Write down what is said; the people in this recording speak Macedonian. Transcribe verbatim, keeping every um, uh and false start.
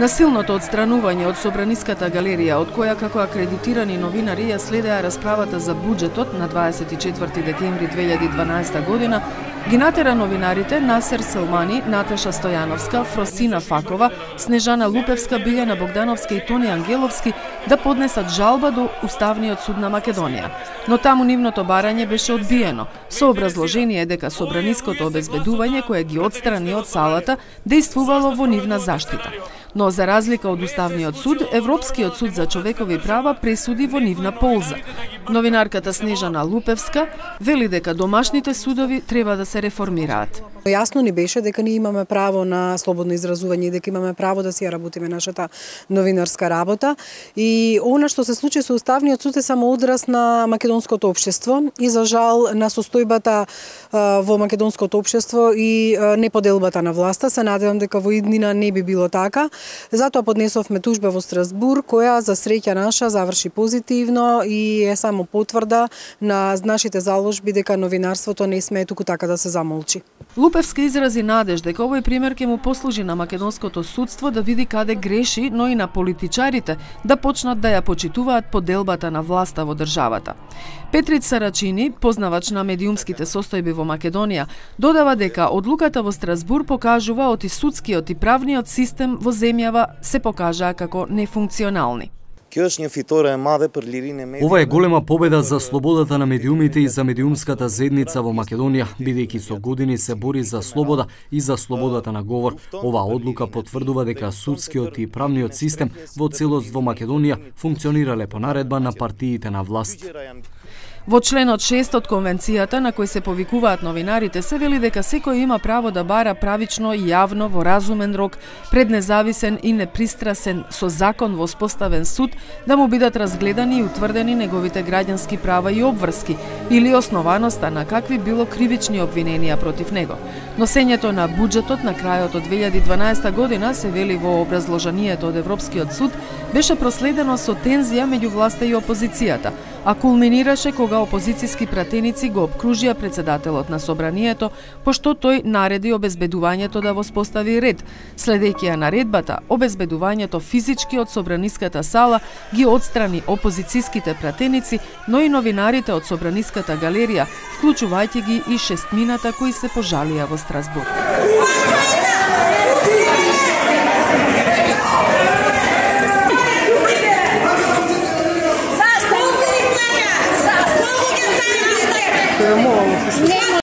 Насилното отстранување од Собраниската галерија, од која како акредитирани новинари ја следеа расправата за буџетот на дваесет и четврти декември две илјади и дванаесета година, ги натера новинарите Насер Селмани, Наташа Стојановска, Фросина Факова, Снежана Лупевска, Билјана Богдановска и Тони Ангеловски да поднесат жалба до Уставниот суд на Македонија. Но таму нивното барање беше одбиено, со образложение дека собраниското обезбедување кое ги отстрани од салата дејствувало во нивна заштита. Но за разлика од Уставниот суд, Европскиот суд за човекови права пресуди во нивна полза. Новинарката Снежана Лупевска вели дека домашните судови треба да се реформираат. Јасно ни беше дека ние имаме право на слободно изразување и дека имаме право да си ја работиме нашата новинарска работа. И она што се случи со Уставниот суд е само одраз на македонското општество и за жал на состојбата во македонското општество и неподелбата на власта. Се надевам дека во иднина не би било така. Затоа поднесовме тужба во Страсбур, која за среќа наша заврши позитивно и е само потврда на нашите заложби дека новинарството не смее туку така да се замолчи. Лупевска изрази надеж дека овој пример ќе му послужи на македонското судство да види каде греши, но и на политичарите да почнат да ја почитуваат поделбата на власта во државата. Петрит Сарачини, познавач на медиумските состојби во Македонија, додава дека одлуката во Страсбур покажува оти судскиот и правниот систем во земјава се покажаа како нефункционални. Ова е голема победа за слободата на медиумите и за медиумската заедница во Македонија, бидејќи со години се бори за слобода и за слободата на говор. Оваа одлука потврдува дека судскиот и правниот систем во целост во Македонија функционирале по наредба на партиите на власт. Во членот шест од конвенцијата на кој се повикуваат новинарите се вели дека секој има право да бара правично и јавно во разумен рок пред независен и непристрасен со закон воспоставен суд да му бидат разгледани и утврдени неговите граѓански права и обврски или основаноста на какви било кривични обвиненија против него. Носењето на буџетот на крајот од две илјади и дванаесета година се вели во образложението од Европскиот суд беше проследено со тензија меѓу власта и опозицијата, а кулминираше кога опозицијски пратеници го обкружија председателот на собранието, пошто тој нареди обезбедувањето да воспостави ред. Следејќи ја наредбата, обезбедувањето физички од собраниската сала ги отстрани опозицијските пратеници, но и новинарите од Собраниската галерија, вклучувајќи ги и шестмината кои се пожалија во Страсбур.